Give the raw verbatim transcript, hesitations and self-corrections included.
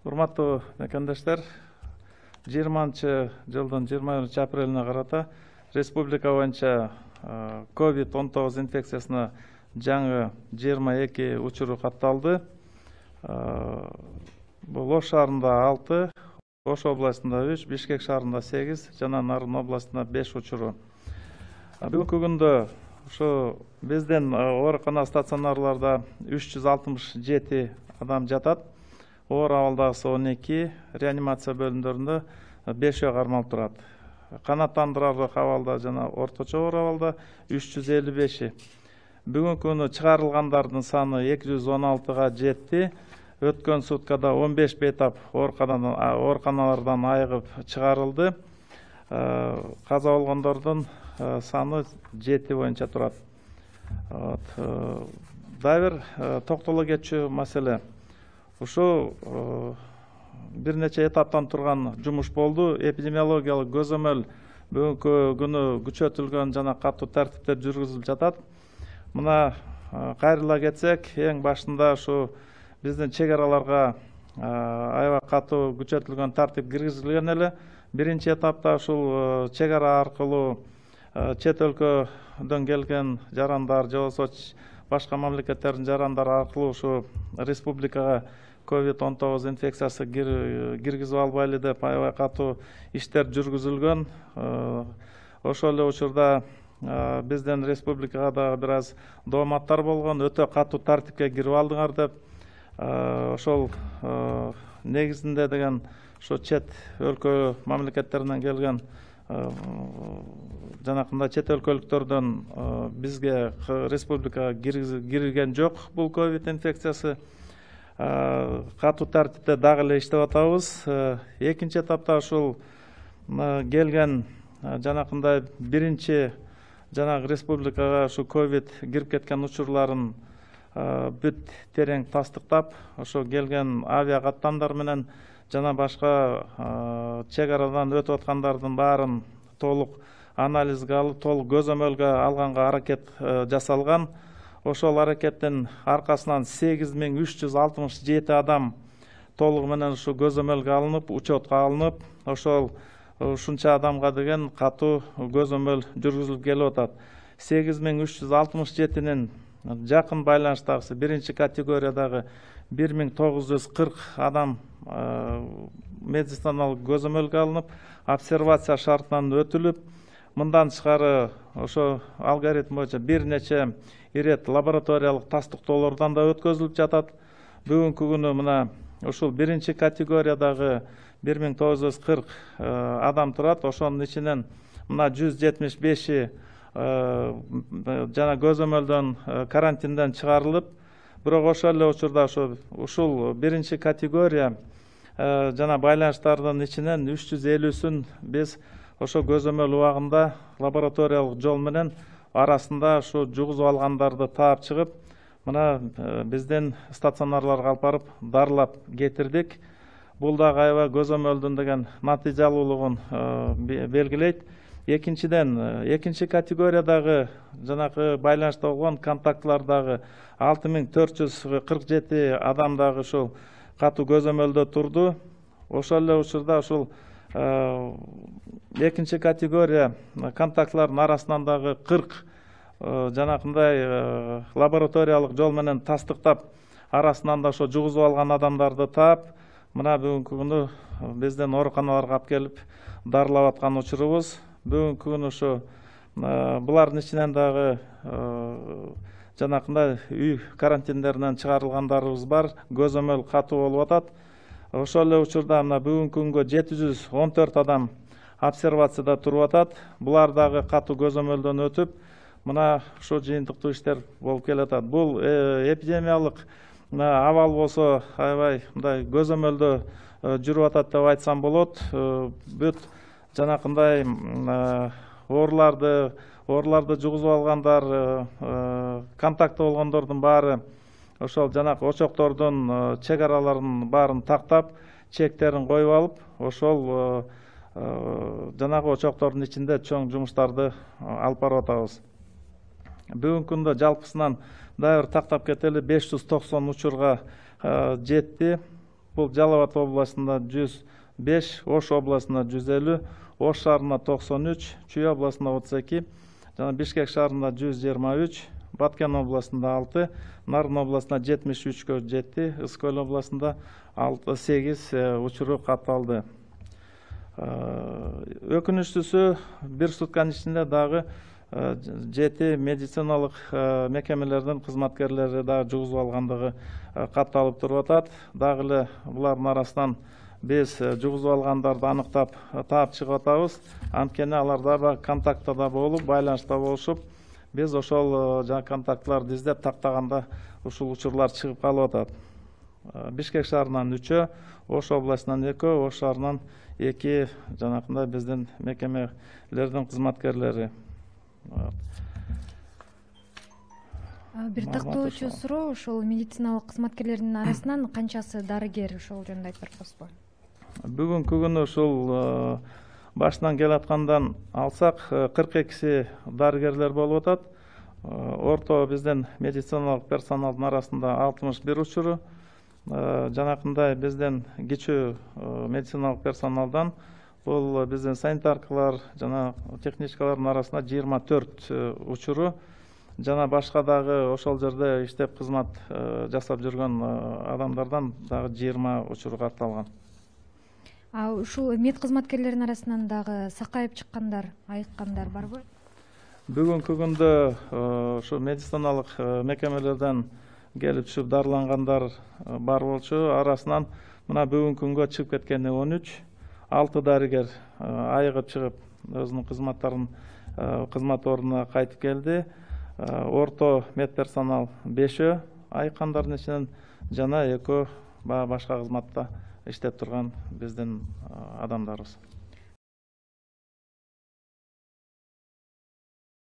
Урматтуу мекендештер, жыйырманчы жылдын жыйырма биринчи апрелине карата республика боюнча ковид он тогуз инфекциясына жаңы жыйырма эки учуру катталды. Бул Ош шаарында алты, Ош областында үч, Бишкек шаарында сегиз жана Нарын областында беш учуру. Бүгүнкү күндө ушу биздин оорукана стационарларда үч жүз алтымыш жети адам жатат. Оор абалдагысы он эки, реанимация бөлүмдөрүндө бешөө кармалып турат. Канааттандырарлык абалда жана орточо оор абалда үч жүз элүү беши. Бүгүнкү күнү чыгарылгандардын саны эки жүз он алтыга жетти. Өткөн суткада он беш бейтап ооруканалардан айыгып чыгарылды. Каза болгондордун саны жети боюнча турат. Дагы бир токтоло кетчү маселе. Ушу бир нече этаптан турган жумуш болду. Эпидемиологиялык көзөмөл бүгүнкү күнү күчөтүлгөн жана катуу тартипте жүргүзүлүп жатат. Мына кайрыла кетсек, эң башында ушу биздин чек араларга аябай катуу күчөтүлгөн тартип киргизилген эле. Биринчи этапта ушул чек ара аркылуу чет өлкөдөн келген жарандар же болбосо башка мамлекеттердин жарандары аркылуу ушу республикага ковид он тогуз инфекциясы киргизип албайлы деп аябай катуу иштер жүргүзүлгөн. Ошол эле учурда биздин республикага дагы бир аз дооматтар болгон, өтө катуу тартипке кирип алдыңар деп. Ошол негизинде деген ошо чет өлкө мамлекеттеринен келген жанакындай чет өлкөлүктөрдөн бизге республикага кирген жок бул ковид инфекциясы. Катуу тартипте дагы эле иштеп атабыз. Экинчи этапта ушул келген жанакындай биринчи жанагы республикага ушу ковид кирип кеткен учурларын бүт терең тастыктап, ошо келген авиа каттамдар менен жана башка чек арадан өтүп аткандардын баарын толук анализге алып, толук көзөмөлгө алганга аракет жасалган. Ошол аракеттин аркасынан сегиз миң үч жүз алтымыш жети адам толугу менен ушу көзөмөлгө алынып, учетко алынып, ошол ушунча адамга деген катуу көзөмөл жүргүзүлүп келип атат. сегиз миң үч жүз алтымыш жетинин жакын байланыштагысы биринчи категориядагы бир миң тогуз жүз кырк адам медициналык көзөмөлгө алынып, обсервация шартынан өтүлүп, мындан тышкары ошо алгоритм боюнча бир нече ирет лабораториялык тастыктоолордон да өткөзүлүп жатат. Бүгүнкү күнү мына ушул биринчи категориядагы бир миң тогуз жүз кырк адам турат. Ошонун ичинен мына жүз жетимиш беши жана көзөмөлдөн карантинден чыгарылып, бирок ошол эле учурда ошо ушул биринчи категория жана байланыштардын ичинен үч жүз элүүсүн биз ошо көзөмөл убагында лабораториялык жол менен арасында ушу жугузуп алгандарды таап чыгып, мына биздин стационарларга алып барып дарылап кетирдик. Бул дагы аябай көзөмөлдүн деген натыйжалуулугун белгилейт. Экинчиден, экинчи категориядагы жанакы байланышта болгон контактлардагы алты миң төрт жүз кырк жети адам дагы ушул катуу көзөмөлдө турду. Ошол эле учурда ушул экинчи категория контактлардын арасынан дагы кырк жанакындай лабораториялык жол менен тастыктап, арасынан да ошо жугузуп алган адамдарды таап, мына бүгүнкү күнү биздин ооруканаларга алып келип дарылап аткан учурубуз. Бүгүнкү күнү ушу булардын ичинен дагы жанакындай үй карантиндеринен чыгарылгандарыбыз бар, көзөмөл катуу болуп атат. Ошол эле учурда мына бүгүнкү күнгө жети жүз он төрт адам обсервацияда туруп атат. Булар дагы катуу көзөмөлдөн өтүп, мына ушу жыйынтыктуу иштер болуп келатат. Бул эпидемиялык абал болсо аябай мындай көзөмөлдө жүрүп атат деп айтсам болот. Бүт жанакындай ооруларды, ооруларды жугузуп алгандар, контакты болгондордун баары ошол жанакы очоктордун чек араларын баарын тактап, чектерин коюп алып, ошол жанагы очоктордун ичинде чоң жумуштарды алып барып атабыз. Бүгүнкү күндө жалпысынан дагы бир тактап кетели, беш жүз токсон учурга жетти. бул Жалал Абад областында жүз беш, Ош областында жүз элүү, Ош шаарында токсон үч, Чүй областында отуз эки, жана Бишкек шаарында жүз жыйырма үч, Баткен областында алты, Нарын областында жетимиш үчкө жетти, Ысык Көл областында сегиз учуру катталды. Өкүнүчтүүсү бир сутканын ичинде дагы жети медициналык мекемелердин кызматкерлери дагы жугузуп алгандыгы катталып туруп атат. Дагы эле булардын арасынан биз жугузуп алгандарды аныктап таап чыгып атабыз. Анткени алар дагы контактта болуп, байланышта болушуп, биз ошол жаңы контактларды издеп тактаганда ушул учурлар чыгып калып атат. Бишкек шаарынан үчөө, Ош областынан экөө, Ош шаарынан эки жанакындай биздин мекемелердин кызматкерлери. Бир тактоочу суроо, ошол медициналык кызматкерлердин арасынан канчасы дарыгер, ошол жөнүндө айтып бербесизби? Бүгүнкү күнү ушул башынан келаткандан алсак кырк экиси дарыгерлер болуп атат. Орто биздин медициналык персоналдын арасында алтымыш бир учуру, жанакындай биздин кичүү медициналык персоналдан бул биздин санитаркалар жана техничкалардын арасында жыйырма төрт учуру, жана башка дагы ошол жерде иштеп кызмат жасап жүргөн адамдардан дагы жыйырма учуру катталган. А ушул мед кызматкерлеринин арасынан дагы сакайып чыккандар, айыккандар барбы? Бүгүнкү күндө ушу медициналык мекемелерден келип түшүп дарылангандар бар болчу. Арасынан мына бүгүнкү күнгө чыгып кеткени он үч, алты дарыгер айыгып чыгып өзүнүн кызматтарын кызмат ордуна кайтып келди. Орто медперсонал бешөө айыккандардын ичинен жана экөө башка кызматта иштеп турган биздин адамдарыбыз.